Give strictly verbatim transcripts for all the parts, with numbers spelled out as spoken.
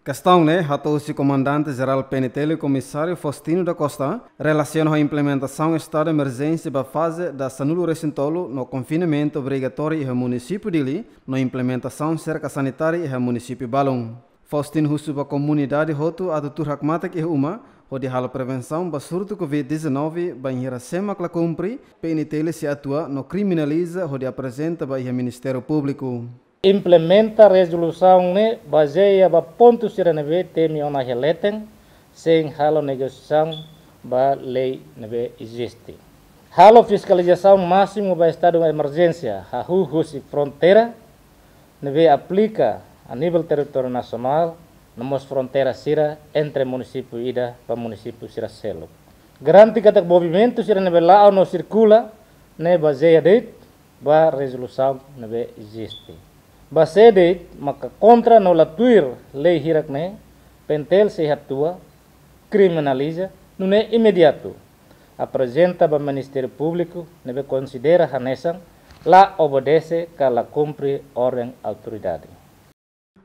Kestaun ne'e hato'o husi Komandante Jerál P N T L, Komisáriu Faustino da Costa, relasiona ho implementasaun estadu emerjénsia ba faze da sanulu resin tolu no konfinamentu obrigatóriu iha munisípiu Dili, no implementasaun serka sanitária iha munisípiu balun. Faustino husu ba komunidade hotu atu tuur hakmatek iha uma, hodi halo prevensaun ba surtu covid dezanove, bainhira sé mak la kumpre, P N T L sei atua no kriminaliza hodi aprezenta ba iha Ministériu Públiku. Implementa rezolusaun ne'e bazeia ba pontu sira ne'ebé temi ona iha leten, sein halo negosiasaun ba lei ne'ebé eziste. Halo fiskalizasaun másimu ba estadu emerjénsia, hahú husi fronteira ne'ebé aplika a nivel territóriu nasionál, no mós fronteira sira entre munisípiu ida ba munisípiu sira seluk. Garante katak movimentu sira ne'ebé la'o no sirkula ne'e bazeia de'it ba rezolusaun ne'ebé eziste. Ba sé de'it maka kontra no la tuir lei hirak ne'e, P N T L sei atua, kriminaliza, nune'e imediatu aprezenta ba Ministériu Públiku ne'ebé konsidera hanesan la obedese ka la kumpre orden autoridade.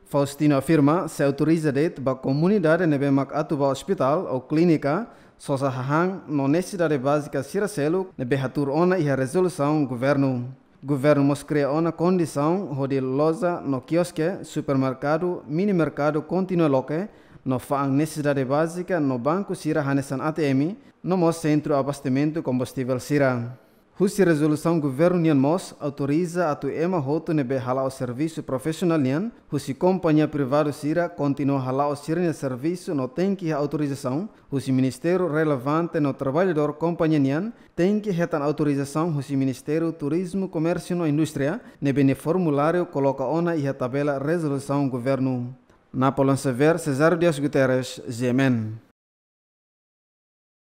Faustino afirma, sei autoriza de'it ba komunidade ne'ebé mak atu ba ospitál ou klínika, sosa hahán no nesesidade bázika sira seluk ne'ebé hatuur ona iha rezolusaun governu. Governu mós kria ona kondisaun hodi loja no kioske, supermerkadu, mini merkadu kontinua loke, no fa'an nesesidade bázika no banku sira hanesan A T M, no mós sentru abastesimentu kombustivel sira. Husi rezolusaun governu nian mós autoriza atu ema hotu ne'ebé hala'o servisu profisionál nian husi kompañia privadu sira kontinua hala'o sira-nia servisu no tenke iha autorizasaun husi ministériu relevante no traballadór kompañia nian tenke hetan autorizasaun husi Ministériu Turizmu, Komérsiu no Indústria ne'ebé nia formuláriu koloka ona iha tabela rezolusaun governu. Napoleon Xavier, Cesário Dias Guterres, G M N.